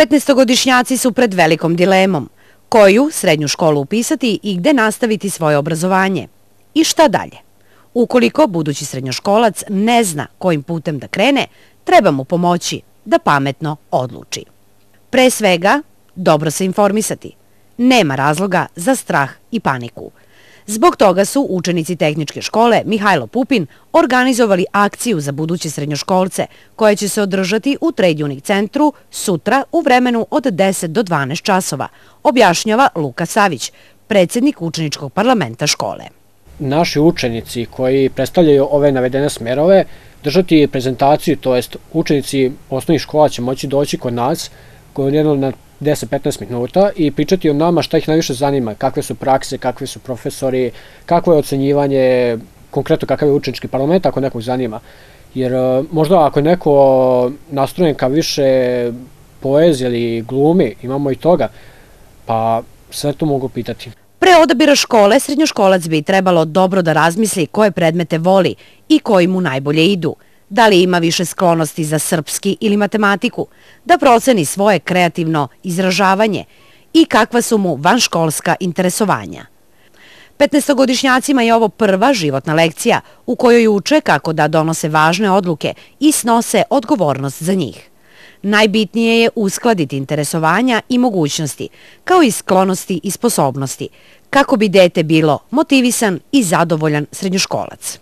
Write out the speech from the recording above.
15-godišnjaci su pred velikom dilemom. Koju srednju školu upisati i gde nastaviti svoje obrazovanje? I šta dalje? Ukoliko budući srednjoškolac ne zna kojim putem da krene, treba mu pomoći da pametno odluči. Pre svega, dobro se informisati. Nema razloga za strah i paniku. Zbog toga su učenici tehničke škole Mihajlo Pupin organizovali akciju za buduće srednjoškolce koja će se održati u Trade Unique centru sutra u vremenu od 10 do 12 časova, objašnjava Luka Savić, predsjednik učeničkog parlamenta škole. Naši učenici koji predstavljaju ove navedene smerove držati prezentaciju, to jest učenici osnovnih škola će moći doći kod nas na 10-15 minuta i pričati o nama šta ih najviše zanima, kakve su prakse, kakvi su profesori, kakvo je ocenjivanje, konkretno kakav je učenički parlament ako nekog zanima. Jer možda ako je neko nastrojen ka više poezije ili glumi, imamo i toga, pa sve to mogu pitati. Pre odabira škole, srednjoškolac bi trebalo dobro da razmisli koje predmete voli i koji mu najbolje idu. Da li ima više sklonosti za srpski ili matematiku, da proceni svoje kreativno izražavanje i kakva su mu vanškolska interesovanja. 15-godišnjacima je ovo prva životna lekcija u kojoj uče kako da donose važne odluke i snose odgovornost za njih. Najbitnije je uskladiti interesovanja i mogućnosti, kao i sklonosti i sposobnosti, kako bi dete bilo motivisan i zadovoljan srednjoškolac.